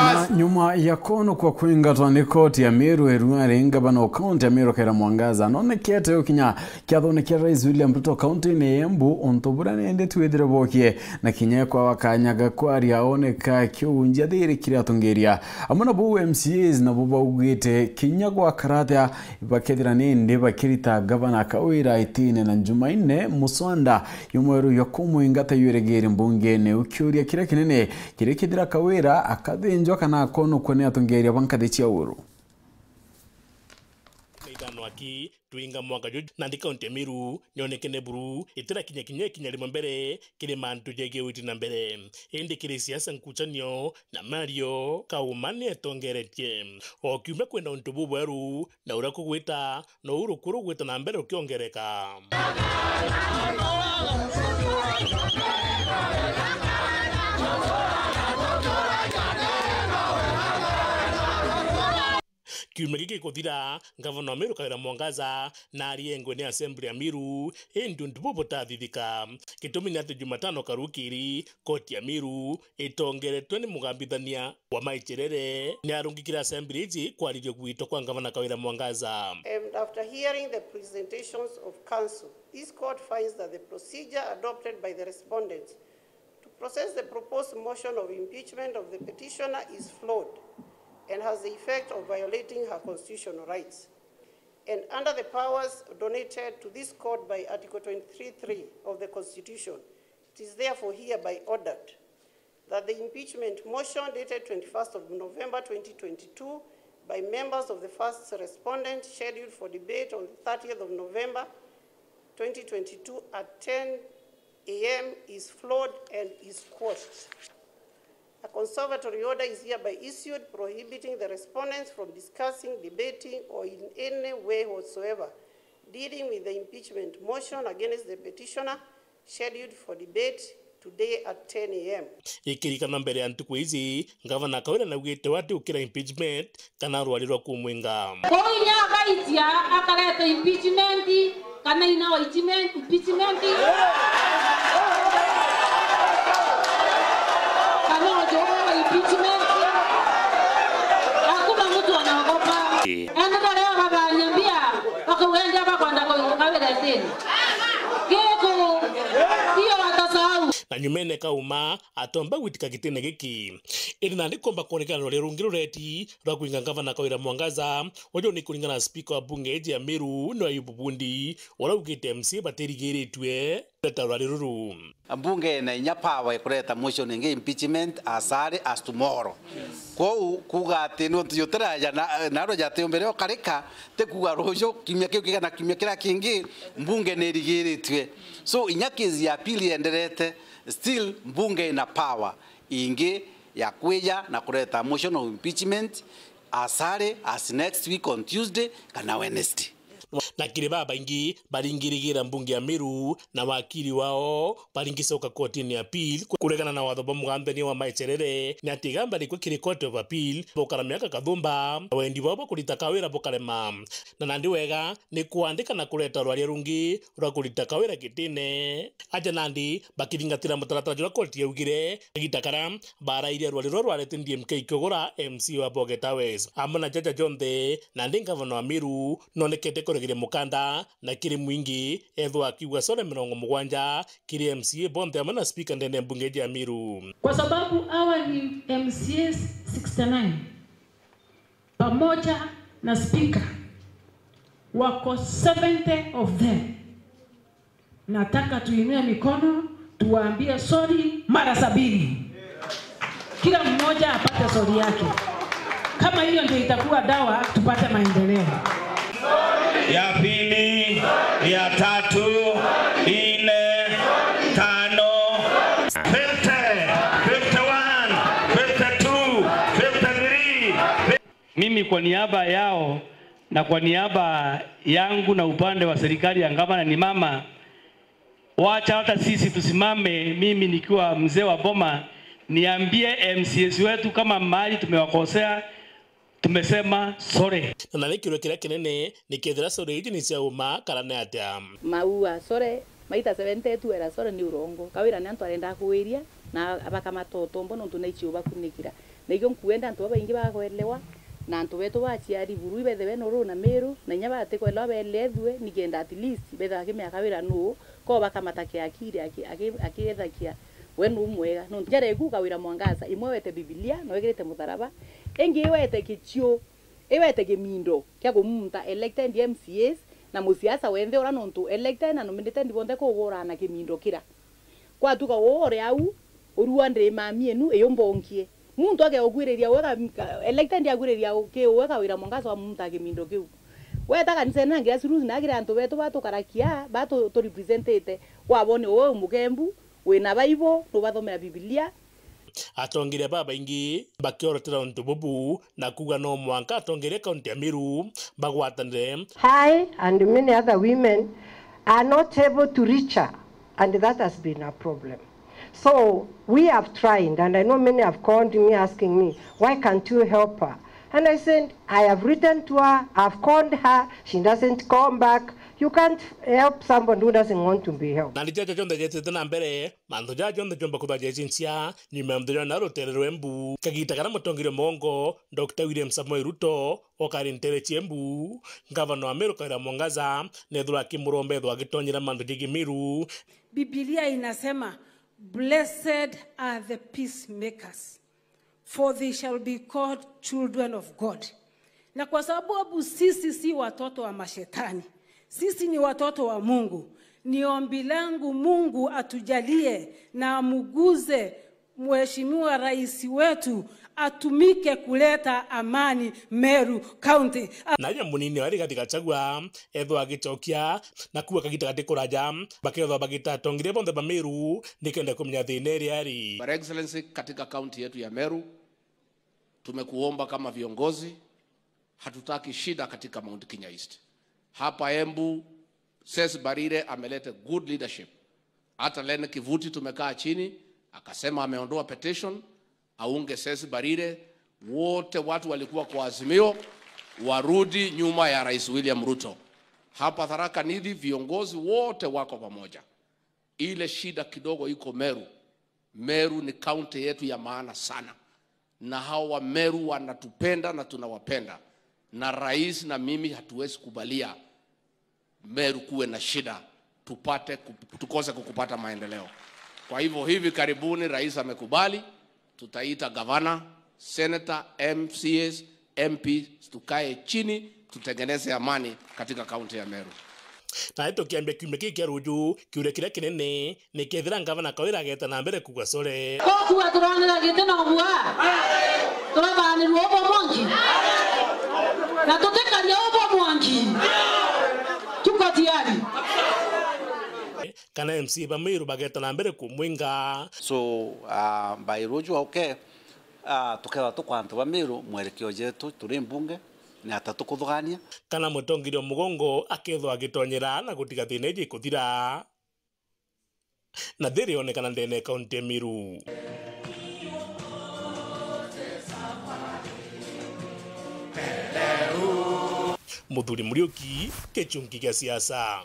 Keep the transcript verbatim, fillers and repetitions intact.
Na nyuma ya kwono kwa kwingatwa ni koti ya Meru, Eruari, ngavana wa kaunti ya Meru Kawira Mwangaza nonekete gukinya kiathone kia Rais William Ruto kaunti-ini ya Embu, untu buria nindi twithire bokie na kinya kwa wakanyaga kwaria oneka kiunjia thiri kiria atongeria. Amwe na buu M C As nabo baugite kinya gwakara atia bakethira nindi bakirita ngavana Kawira itine na Jumaine muswanda yumweru ya kumwingata yurigiri mbungene. Ukiuria kiria kinene kiri kithira Kawira akathinjwa kana akonokua ni atongeria ba nkathi cia uru. Ithano aki twinga mwaka juju, nandi kaunti ya Meru nionekene buru, itirakinya kinya ikinya rimwe mbere kiri mantu jegie witi na mbere. Indi kiri siasa, nkuchanio na mario, Kauma ni etongeretie. O kiumia kwina untu bubweru, na uria kugwita, nou rukuru rugwita na mbere rukiongereka. Kiumia giki gikuthira, ngavana wa Meru Kawira Mwangaza na ariengwe ni Assembly ya Meru, indi untu buu butathithika. Gitumi ni ati Jumatano karukiri, koti ya Meru itongeretwe ni mugambithania wa Maicherere ni arungikire Assembly iji kwariria gwitwa kwa ngavana Kawira Mwangaza. And after hearing the presentations of counsel, this court finds that the procedure adopted by the respondents to process the proposed motion of impeachment of the petitioner is flawed and has the effect of violating her constitutional rights. And under the powers donated to this court by Article twenty-three three of the Constitution, it is therefore hereby ordered that the impeachment motion dated twenty-first of November twenty twenty-two by members of the first respondent, scheduled for debate on the thirtieth of November twenty twenty-two at ten a m is flawed and is quashed. A conservatory order is hereby issued prohibiting the respondents from discussing, debating, or in any way whatsoever dealing with the impeachment motion against the petitioner, scheduled for debate today at ten a m. Ikirikana mbere ya ntuku iji, ngavana Kawira naugite we ati ukira impeachment kana rwari rwa kumwinga. Kwou inya agaitia akareta impeachment, kana ina wa impeachment, impeachment, kana ujua wa impeachment. Hakuna mtu anaogopa. Ii. Enda taria baganyambia, bakauga ndia bakwenda kuinga Kawira itini. Giku, iyo watasahau. Na nyumene Kauma atomba gwitika gitine giki. Indi nandi komba kwonekana rwari rungi rureti rwa kwinga ngavana Kawira Mwangaza, uju ni kuringana na spika wa bunge iji ya Meru, ni Ayubu Bundi, uria ugite M C A batirigiritue kureta rwari ruru. Mbunge ina inya power ya kureta motion ingi impeachment as early as tomorrow. Kwou kuuga ati nontu jutiraja na, narua jatiumbire ukarika, ti kuuga ruju, kiumia kiu kigana kiumia kiria kingi, mbunge ni irigiritue. So, inya case ya appeal yenderete, still mbunge ina power ingi ya kwija na kureta motion of impeachment as early as next week on Tuesday kana Wednesday. Na kiri babaingi baringirigira mbunge ya Meru na wakiri wao baringicoka kotini ya appeal kuregana na watho bwa mugambithania wa Maecherere, ni ati igamba rikwe kiri Court of Appeal bukara miaka kathumba, na wendi bwao bwa kurita Kawira bukarema. Na nandi wega ni kwandika na kureta rwaria rungi rwa kurita Kawira gitine. Aja nandi bakithingatira mutaratara juria koti yaugire, kagita karia barairie rwari ruria rwarete D M K ikiugura M C A wa Bogeta West. Amwe na jaja jonthe, nandi ngavana wa Meru nonekete kuregeria mukanda na kiri mwingi, ethwa akiuga sore mirongo mugwanja kiri M C A bonthe amwe na spika ndene ya mbunge ya Meru. Kwa sababu hawa ni M C As sixty-nine, pamoja na spika, wako seventy of them. Nataka tuinue mikono, tuwaambie sorry mara sabini. Kila mmoja apate sorry yake. Kama hiyo ndio itakuwa dawa, tupate maendeleo. Ya pili, ya tatu, nne, tano, fifty, fifty-one, fifty-two, fifty-three. Mimi kwa niaba yao na kwa niaba yangu na upande wa serikali ya gavana ni mama, wacha hata sisi tusimame, mimi nikiwa mzee wa boma, niambie M C As wetu kama mahali tumewakosea, tumesema sorry. Na nani kirwe kiria kinene ni kethira sorry iji ni cia uma kana ni atia? Maua sorry, maita seventy tu era sorry ni urongo. Kawira ni antu arenda kugwiria, na bakamata utombo nontu naichi ubakunikira. Na ikio nkwenda antu babaingi bakwelewa, na antu betu baciari buru ibethirwe na uru na Miru, na inya batikwelewa beelethue, nikenda at least bethirwa akimiaka wira nuu, ko bakamata kiakiri aki-, aki-, akiethakia we nuu mwega. Nontu njara iku Kawira Mwangaza, imwe wete Bibilia, na wikirite mutharaba, ingi iwete kichiu, iwete kimindo kia kumunta elected M C As na musiasa wenthe ura, nontu elected na nominated bonthe kugurana kimindo kira. Kwatuka uu uri au, urua ndiri mami enu, iyumbongie. Muntu akegukwiriria uwe ka-, ka-, elected akwiriria u-, ki uwe Kawira Mwangaza wamunta kimindo kiu. Weta kanisene na grassroots na kiri antu betu batukarakia, batu-, turepresentite, wabone uwe u mukembu, wina Bible, nubathomera Bibilia. Atongeria babaingi bakiorotera untu bubu na kuuga no mwanka atongeria kaunti ya Meru bagwatanire. I and many other women are not able to reach her, and that has been a problem. So we have tried, and I know many have called me asking me, "Why can't you help her?" And I said, "I have written to her, I've called her, she doesn't call back. You can't help somebody who doesn't want to be helped." Na ni jaja jonthe jetite na mbere, mantu jaja jonthe jomba kwithirwa jecinchia nyuma ya muthenya na rutere rwa Embu. Kagita karia mutongeria mwongo, Doctor William Samoei Ruto, okari ntere cia Embu, ngavana wa Meru Kawira Mwangaza, nethirwa akimuromba ethirwa agitonyera mantu jegie Meru. Biblia inasema, "Blessed are the peacemakers, for they shall be called children of God." Na kwa sababu sisi si watoto wa mashetani, sisi ni watoto wa Mungu. Ni ombi langu Mungu atujalie na amuguze Mheshimiwa Rais wetu atumike kuleta amani Meru County. Naye munini wa Rigathi Gachagua ethwa agicokia na kuuga kagita gati kuraja, bakethwa bagita atongeria bonthe ba Meru nikenda kumenya thina iria ari. Your Excellency, katika kaunti yetu ya Meru, tumekuomba kama viongozi, hatutaki shida katika Mount Kenya East. Hapa Embu, Cecily Mbarire ameleta good leadership. Hata Len Kivuti tumekaa chini, akasema ameondoa petition, aunge Cecily Mbarire. Wote watu walikuwa kwa Azimio warudi nyuma ya Rais William Ruto. Hapa Tharaka Nithi viongozi wote wako pamoja. Ile shida kidogo iko Meru. Meru ni kaunti yetu ya maana sana, na hawa Wameru wanatupenda na tunawapenda, na rais na mimi hatuwezi kubalia Meru kuwe na shida, tupate kup-, tukose kukupata maendeleo. Kwa hivyo hivi karibuni rais amekubali, tutaita gavana, senator, M C As, M Ps, tukae chini, tutengeneze amani katika kaunti ya Meru. Na tukiambia kiumia kii kia ruju, kiuria kiria kinene ni kethira ngavana Kawira ageta na mbere kuuga sore. Kokuwa turonera giti na ubua, turabanirwa ubwa mwanki, na tutikaria ubwa mwanki. Tuko tayari. Kana M C A ba Meru bageta na mbere kumwinga. So, uh, by ruju auke, uh, tukethwa tukwa antu ba Meru, mwerekeo jetu turi mbunge, ni ata tukuthugania. Kana mutongeria mugongo akethwa agitonyera na gutiga thina iji ikuthira. Na thiri yonekana ndene ya kaunti ya Meru. Muthuri Muriuki, Gichungi gia Siasa.